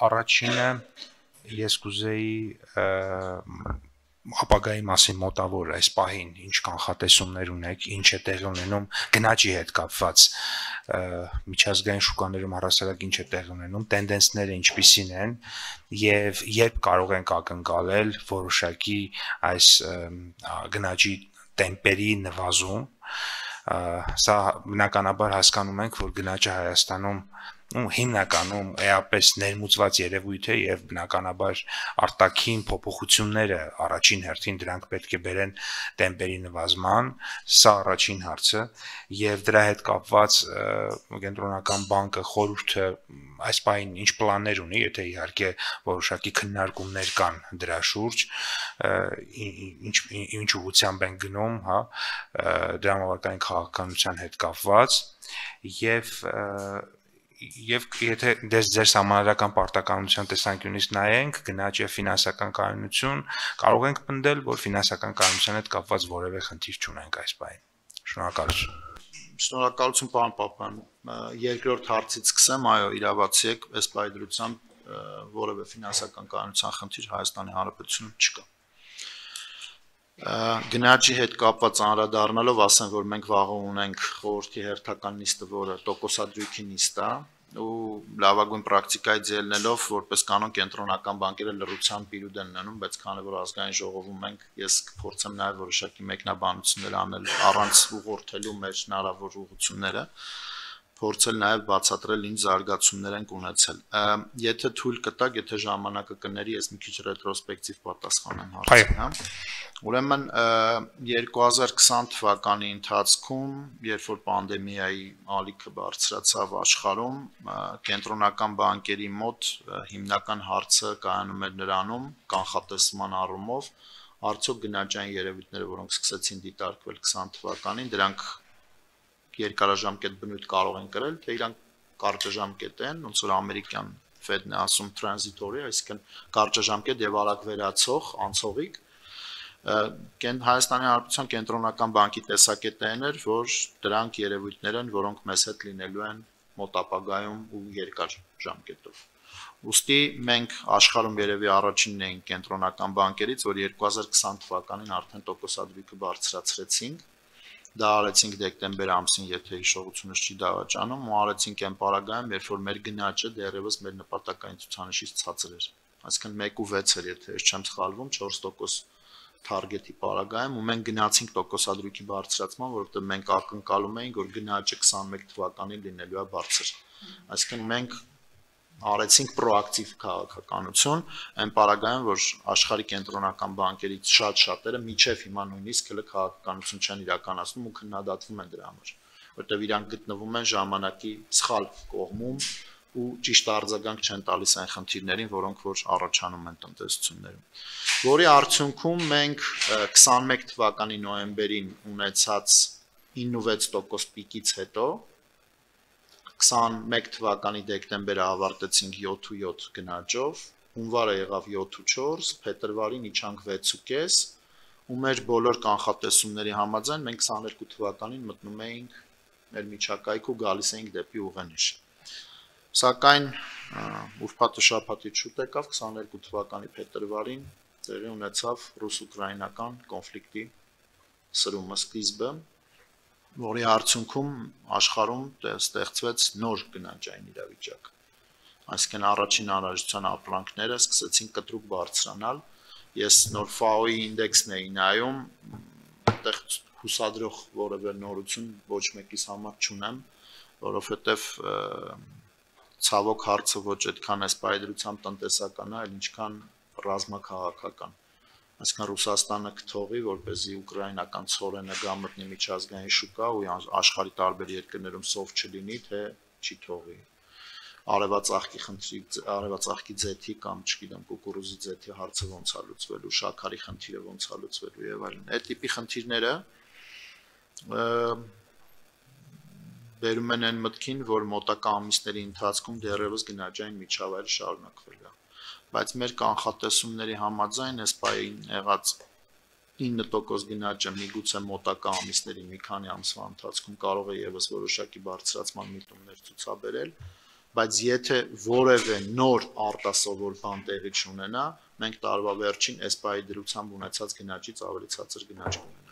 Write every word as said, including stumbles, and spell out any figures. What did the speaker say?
Առաջինը ես կուզեի ապագայի մասին մոտավոր այս պահին ինչ կանխատեսումներ ունեք, ինչ է տեղի ունենում գնաճի հետ կապված միջազգային շուկաներում առասարակ ինչ է տեղի ունենում, տենդենսները ինչպիսին են եւ երբ կարող ենք ակնկալել որոշակի այս գնաճի տեմպերի նվազում, սա բնականաբար հասկանում ենք, որ գնաճը Հայաստանում հիմնականում էապես ներմուծված երևույթ է եւ բնականաբար արտաքին փոփոխությունները առաջին հերթին դրանք պետք է բերեն տեմպերի նվազման, սա առաջին հարցը եւ դրա հետ կապված կենտրոնական բանկը խորհուրդը այս պահին ինչ պլաններ ունի, եթե իհարկե որոշակի քննարկումներ կան դրա շուրջ, ինչ ինչ ուղղությամբ են գնում, հա, դրամավարկային քաղաքականության հետ կապված եւ Եվ եթե դες ձեր համանրական պարտականության տեսանկյունից նայենք, գնաճ եւ ֆինանսական կայունություն, կարող ենք պնդել, որ ֆինանսական կայունության հետ կապված որևէ խնդիր չունենք այս բային։ Շնորհակալություն։ Շնորհակալություն, պարոն Պապյան։ Երկրորդ հարցից սկսեմ, այո, իրավացի եք, այս բայի դրությամբ որևէ ֆինանսական կայունության խնդիր Հայաստանի Հանրապետությունում չկա։ Գնաճի հետ կապված անդրադառնալով ասեմ, որ մենք վաղը ունենք խորհրդի հերթական նիստը, որը տոկոսադրույքի նիստ է, ու լավագույն պրակտիկայից ելնելով, որպես կանոն կենտրոնական բանկերը լռությամբ իրուտ են ունենում, բայց քանի որ ազգային ժողովում ենք, ես կփորձեմ նաև որոշակի մեկնաբանություններ անել առանց ուղղորդելու մեր հնարավոր ուղղությունները, փորձել նաև բացատրել ինչ զարգացումներ են ունեցել։ Եթե թույլ կտակ, եթե ժամանակը կների, ես մի քիչ ռետրոսպեկտիվ պատասխանեմ հարցին, հա։ Ուրեմն երկու հազար քսան թվականի ընթացքում, երբ որ պանդեմիայի ալիքը բարձրացավ աշխարհում, կենտրոնական բանկերի մոտ հիմնական հարցը կայանում էր նրանում, կանխատեսման առումով, արդյոք գնաճային երևույթները, որոնք սկսեցին դիտարկվել քսան թվականին, դրանք երկարաժամկետ բնույթ կարող են կրել, թե իրանք կարճաժամկետ են, ոնց որ ամերիկյան Fed-ն է ասում transitory, այսինքն կարճաժամկետ եւ արագ վերացող, անցողիկ։ Հայաստանի Հանրապետության կենտրոնական բանկի տեսակետն էր, որ դրանք երևույթներ են, որոնք մեզ հետ լինելու են մոտ ապագայում ու երկար ժամկետով։ Ուստի մենք աշխարհում երևի առաջինն էինք կենտրոնական բանկերից, որ երկու հազար քսան թվականին արդեն տոկոսադրույքը բարձրացրեցինք։ Դա արեցինք դեկտեմբեր ամսին, եթե հիշողությունս չի դավաճանում, ու արեցինք այն պարագայում, երբ որ մեր գնաճը դեռևս մեր նպատակային ցուցանիշից ցածր էր։ Այսինքն մեկ ու վեց էր, եթե ես չեմ սխալվում, չորս տոկոս թարգետի պարագայում, ու մենք գնացինք տոկոսադրույքի բարձրացման, որովհետև մենք ակնկալում էինք, որ գնաճը քսանմեկ թվականին լինելու է բարձր։ Այսինքն մենք արեցինք պրոակտիվ քաղաքականություն, այն պարագայում, որ աշխարհի կենտրոնական բանկերից շատ-շատերը միջև հիմա նույնիսկ հենց քաղաքականություն չեն իրականացնում ու քննադատվում են դրա համար, որտեղ իրանք գտնվում են ժամանակի սխալ կողմում ու ճիշտ արձագանք չեն տալիս այն խնդիրներին, որոնք որ առաջանում են տնտեսություններում։ Որի արդյունքում մենք քսանմեկ թվականի նոյեմբերին ունեցած իննսուն վեց տոկոս պիկից հետո քսանմեկ թվականի դեկտեմբերը ավարտեցինք յոթ ու յոթ գնաճով, հունվարը եղավ յոթ ու չորս, փետրվարին իջանք վեց ու կես, ու մեր բոլոր կանխատեսումների համաձայն մենք քսաներկու թվականին մտնում էինք մեր միջակայք ու գալիս էինք դեպի ուղենիշ։ Սակայն ուրբաթ շաբաթից շուտ եկավ քսաներկու թվականի փետրվարին տեղի ունեցավ ռուս-ուկրաինական կոնֆլիկտի սրումը սկիզբը, որի արդյունքում աշխարհում ստեղծվեց նոր գնաճային իրավիճակ։ Այսինքն առաջին անհրաժեշտության ապրանքները սկսեցին կտրուկ բարձրանալ։ Ես նոր ֆաոյի ինդեքսն էի նայում, այդտեղ հուսադրող որևէ նորություն ոչ մեկիս համար չունեմ, որովհետև ցավոք հարցը ոչ այդքան էս պայդրությամբ տնտեսական է, այլ ինչքան ռազմաքաղաքական։ Այսինքն Ռուսաստանը կթողի, որպեսզի ուկրաինական ցորենը գա մտնի միջազգային շուկա ու աշխարհի տարբեր երկրներում սով չլինի, թե չի թողի։ Արևածաղկի խնդրի, արևածաղկի ձեթի կամ չգիտեմ, կուկուրուզի ձեթի հարցը ոնց է լուծվելու, շաքարի խնդիրը ոնց է լուծվելու եւ այլն։ Այդ տիպի խնդիրները բերում են այն մտքին, որ մոտակա ամիսների ընթացքում դեռևս գնաճային միջավայրը շարունակվել է։ Բայց մեր կանխատեսումների համաձայն այս պահին եղած ինը տոկոս գնաճը միգուցե մոտակա ամիսների մի քանի ամսվա ընթացքում կարող է եւս որոշակի բարձրացման միտումներ ցուցաբերել, բայց եթե որևէ նոր արտասովոր բան տեղի չունենա, մենք տարվա վերջին էսպայի դրությամբ ունեցած գնաճից ավելի ցածր գնաճ կունենանք։